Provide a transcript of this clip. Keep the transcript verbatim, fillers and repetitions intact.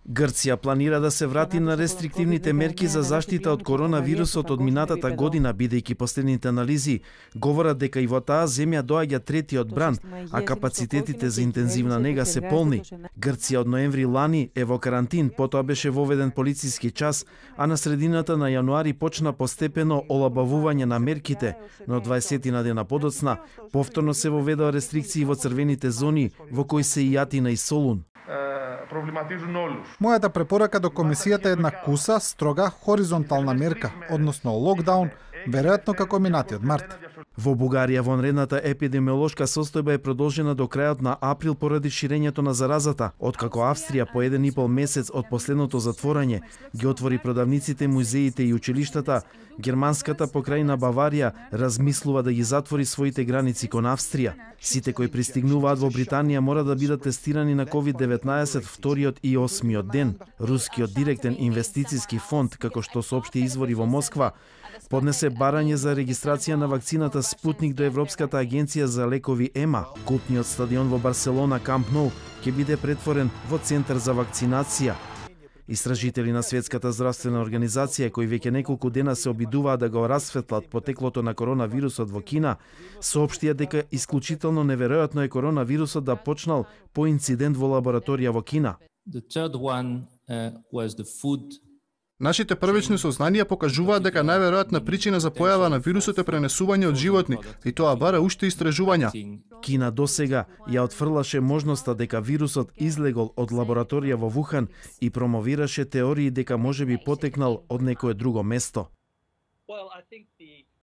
Грција планира да се врати на рестриктивните мерки за заштита од коронавирусот од минатата година, бидејќи последните анализи говорат дека и во таа земја доаѓа третиот бран, а капацитетите за интензивна нега се полни. Грција од ноември лани е во карантин, потоа беше воведен полициски час, а на средината на јануари почна постепено олабавување на мерките, но дваесет дена подоцна повторно се воведоа рестрикции во црвените зони, во кои се и Атина и Солун. Мојата препорака до комисијата е една куса, строга, хоризонтална мерка, односно локдаун, веројатно како минатиот март. Во Бугарија вонредната епидемиолошка состојба е продолжена до крајот на април поради ширењето на заразата, откако Австрија по еден и пол месец од последното затворање ги отвори продавниците, музеите и училиштата, германската покрајна Баварија размислува да ги затвори своите граници кон Австрија. Сите кои пристигнуваат во Британија мора да бидат тестирани на ковид деветнаесет вториот и осмиот ден. Рускиот директен инвестициски фонд, како што соопшти извори во Москва, поднесе барање за регистрација на вакцината Спутник до Европската агенција за лекови ЕМА. Култниот стадион во Барселона Камп Ноу ќе биде претворен во центар за вакцинација. Истражители на Светската здравствена организација, кои веќе неколку дена се обидуваат да го расветлат потеклото на коронавирусот во Кина, соопштија дека исклучително неверојатно е коронавирусот да почнал по инцидент во лабораторија во Кина. Нашите првични сознанија покажуваат дека најверојатна причина за појава на вирусот е пренесување од животни, и тоа бара уште истражувања. Кина досега ја отфрлаше можноста дека вирусот излегол од лабораторија во Вухан и промовираше теории дека можеби потекнал од некое друго место.